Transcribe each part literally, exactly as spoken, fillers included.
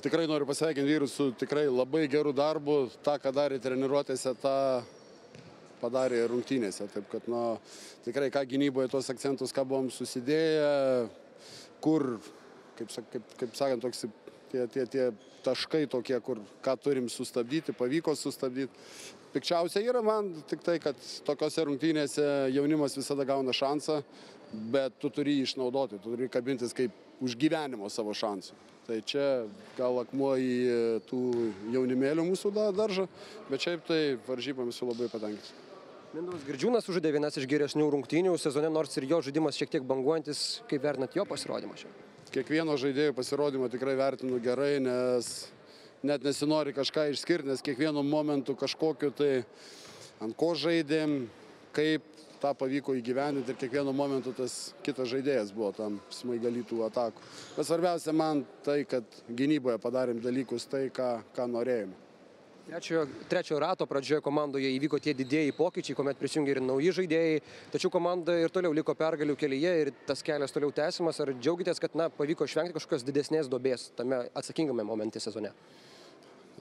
tikrai noriu pasveikinti vyrus su tikrai labai geru darbu. Ta, ką darė treniruotėse, tą padarė rungtynėse. Taip kad, nu, tikrai ką gynyboje tos akcentus, ką buvom susidėję, kur, kaip, kaip, kaip sakant, toks, tie, tie, tie taškai tokie, kur ką turim sustabdyti, pavyko sustabdyti. Pikčiausia yra man tik tai, kad tokiose rungtynėse jaunimas visada gauna šansą, bet tu turi jį išnaudoti, tu turi kabintis kaip už gyvenimo savo šansų. Tai čia gal akmuo į tų jaunimėlių mūsų daržą, bet šiaip tai varžybomis esu labai patenkintas. Mindaugas Girdžiūnas sužaidė vienas iš geresnių rungtynių sezone, nors ir jo žaidimas šiek tiek banguojantis. Kaip vertinat jo pasirodymą šiandien? Kiekvieno žaidėjo pasirodymą tikrai vertinu gerai, nes net nesinori kažką išskirti, nes kiekvienu momentu kažkokiu tai ant ko žaidėm, kaip tą pavyko įgyvendinti ir kiekvienu momentu tas kitas žaidėjas buvo tam smaigalytų atakų. Bet svarbiausia man tai, kad gynyboje padarėm dalykus tai, ką, ką norėjome. Trečiojo, trečiojo rato pradžioje komandoje įvyko tie didieji pokyčiai, kuomet prisijungė ir nauji žaidėjai, tačiau komanda ir toliau liko pergalių kelyje ir tas kelias toliau tęsimas. Ar džiaugitės, kad na, pavyko išvengti kažkokios didesnės duobės tame atsakingame momente sezone?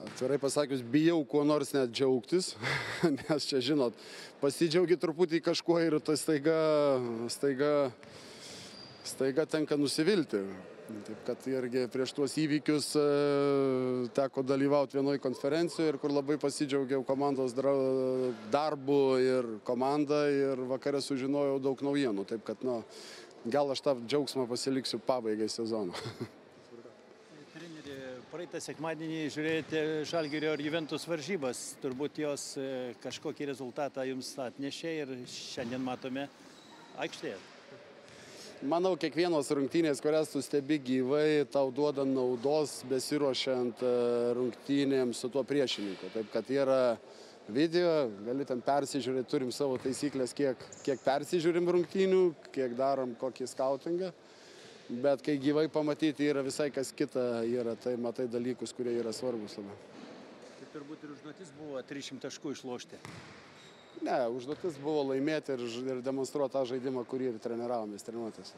Atvirai pasakius, bijau kuo nors net džiaugtis, nes čia, žinot, pasidžiaugi truputį kažkuo ir tai staiga, staiga, staiga tenka nusivilti. Taip kad irgi prieš tuos įvykius e, teko dalyvauti vienoje konferencijoje ir kur labai pasidžiaugiau komandos darbu ir komanda ir vakare sužinojau daug naujienų. Taip kad, nu, gal aš tą džiaugsmą pasiliksiu pabaigai sezono. Praeitą sekmadienį žiūrėjote Žalgirio ir Juventus varžybas. Turbūt jos kažkokį rezultatą jums atnešė ir šiandien matome aikštėje. Manau, kiekvienos rungtynės, kurias tu stebi gyvai, tau duoda naudos besiruošiant rungtynėms su tuo priešininku. Taip kad yra video, gali ten persižiūrėti, turim savo taisyklės, kiek, kiek persižiūrim rungtynių, kiek darom kokį skautingą. Bet kai gyvai pamatyti yra visai kas kita, yra, tai matai dalykus, kurie yra svarbus labai. Tai turbūt ir užduotis buvo trisdešimt taškų išlošti. Ne, užduotis buvo laimėti ir, ir demonstruoti tą žaidimą, kurį ir treniravomės treniruotėse.